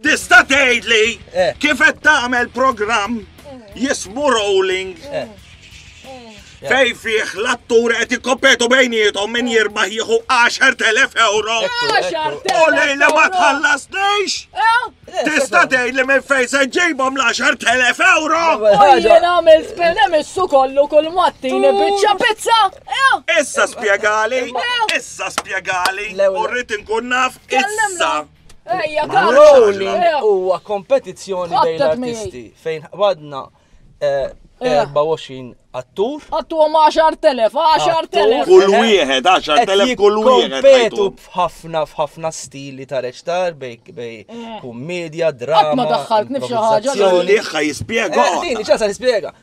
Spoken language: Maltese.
Tista' tgħidli kif qed tagħmel programm jismu Rolling fejn fih l-atturi qed jikkompetu bejniethom min jirbaħ jieħu 10,000 euro. U lejla ma tħallasniex? Tista' tgħidli minn fejn se ġibhom l-10,000 euro? U jien għamil spin emissu kollu kull mattini biċċa pizza. Issa spjegali, issa spjegali, u rrid inkun naf issa. Ejja, Karl. Rolling huwa kompetizzjoni bejn l-artisti fejn għadna 24 attur. Għattu għom 10.000, 10.000. Kull wieħed, 10.000 kull wieħed. Kompetu f'ħafna f'ħafna stili ta' reċtar bej bej kummedja, drama. Qatt ma daħħaltni f'xi ħaġa. Liħħa jispjega. Dini, ċasa jispjega.